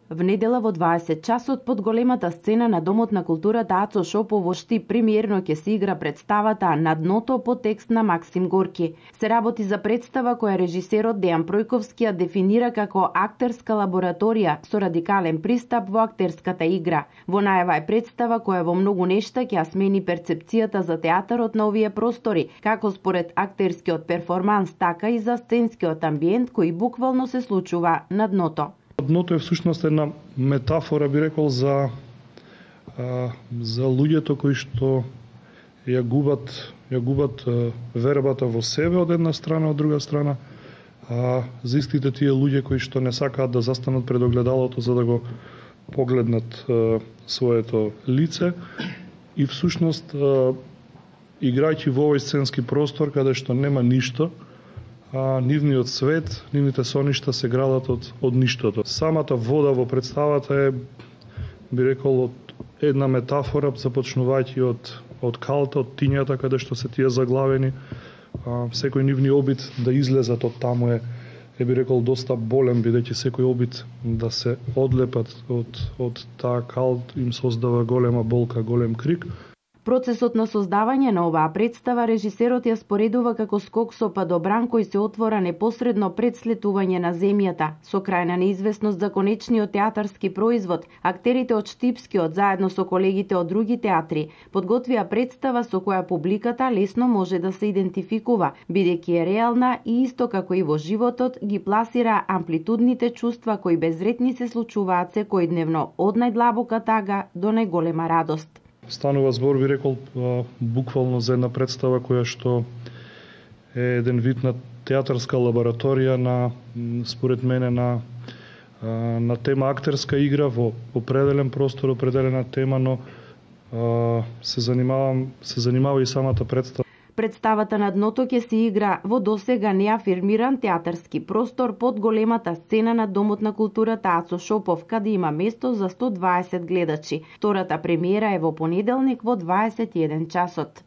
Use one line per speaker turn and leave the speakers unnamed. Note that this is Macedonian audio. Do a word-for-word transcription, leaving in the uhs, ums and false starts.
В недела во дваесет часот под големата сцена на Домот на културата Ацо Шопов во Штип премиерно ќе се игра представата На дното по текст на Максим Горки. Се работи за представа која режисерот Дејан Пројковски ја дефинира како актерска лабораторија со радикален пристап во актерската игра. Во најава е представа која во многу нешта ќе ја смени перцепцијата за театарот на овие простори, како според актерскиот перформанс, така и за сценскиот амбиент кој буквално се случува на дното.
Дното е всушност една метафора, би рекол, за а, за луѓето кои што ја губат, ја губат а, вербата во себе од една страна, од друга страна, а за истите тие луѓе кои што не сакаат да застанат пред огледалото за да го погледнат а, своето лице и всушност а, играјќи во овој сценски простор каде што нема ништо, а нивниот свет, нивните соништа се градат од, од ништото. Самата вода во представата е, би рекол, од една метафора, започнувајќи од, од калта, од тињата, каде што се тие заглавени. А, секој нивни обид да излезат од таму е, е би рекол, доста болен, бидејќи секој обид да се одлепат од, од таа калт им создава голема болка, голем крик.
Процесот на создавање на оваа представа режисерот ја споредува како скок со падобран кој се отвора непосредно пред слетување на земјата. Со крајна неизвестност за конечниот театарски производ, актерите од Штипскиот заедно со колегите од други театри подготвија представа со која публиката лесно може да се идентификува, бидејќи е реална и исто како и во животот ги пласира амплитудните чувства кои безретни се случуваат секојдневно од најдлабока тага до најголема радост.
Станува збор, би рекол, буквално за една представа која што е еден вид на театарска лабораторија на, според мене, на, на тема актерска игра во определен простор, определена тема, но се занимавам, се занимава и самата представа.
Представата На дното ќе се игра во досега неафирмиран театарски простор под големата сцена на Домот на културата Ацо Шопов, каде има место за сто дваесет гледачи. Втората премиера е во понеделник во дваесет и еден часот.